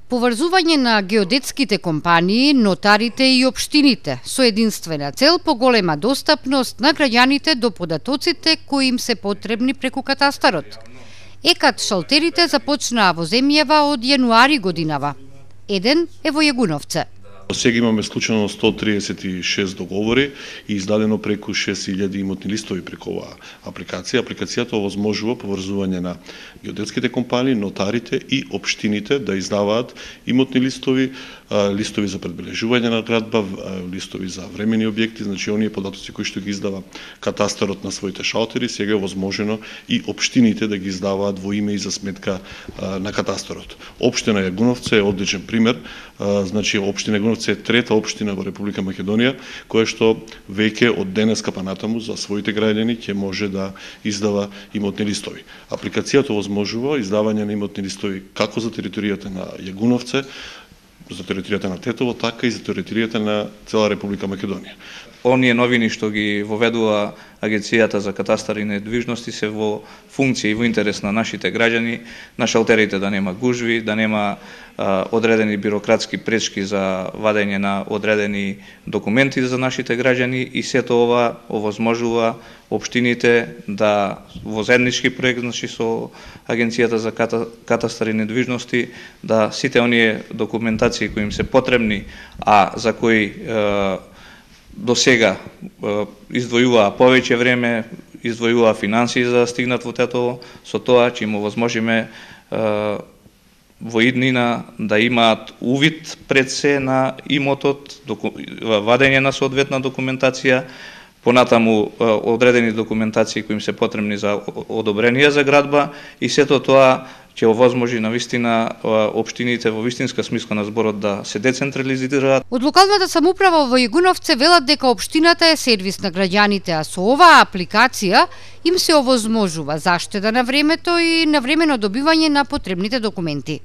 Поврзување на геодетските компании, нотарите и општините со единствена цел поголема достапност на граѓаните до податоците кои им се потребни преку катастарот. ЕКАТ шалтерите започнаа во земјава од јануари годинава. Еден е во Јагуновце. Сега имаме склучено 136 договори и издадено преку 6000 имотни листови преку оваа апликација. Апликацијата овозможува поврзување на геодетските компании, нотарите и општините да издаваат имотни листови, листови за предбележување на градба, листови за времени објекти, значи оние податоци кои што ги издава катастарот на своите шалтери, сега е возможено и општините да ги издаваат во име и за сметка на катастарот. Општина Јагуновце е одличен пример, значи општина Јагуновце е трета општина во Република Македонија која што веќе од денеска па натаму за своите граѓани ќе може да издава имотни листови. Апликацијата овозможува издавање на имотни листови како за територијата на Јагуновце, за територијата на Тетово, така и за територијата на цела Република Македонија. Оние новини што ги воведува Агенцијата за катастар и недвижности се во функција и во интерес на нашите граѓани, на шалтерите да нема гужви, да нема одредени бирократски пречки за вадење на одредени документи за нашите граѓани и сето ова овозможува општините да во заеднички проект, значи со Агенцијата за катастар и недвижности, да сите оние документации кои им се потребни, а за кои до сега издвојуваа повеќе време, издвојуваа финансии за да стигнат во Тетово, со тоа ќе им овозможиме во иднина да имаат увид пред се на имотот, вадење на соодветна документација, понатаму одредени документации кои им се потребни за одобрение за градба и сето тоа ќе овозможи навистина општините во вистинска смисла на зборот да се децентрализираат. Од локалната самоуправа во Јагуновце велат дека општината е сервис на граѓаните, а со оваа апликација им се овозможува заштеда на времето и навремено добивање на потребните документи.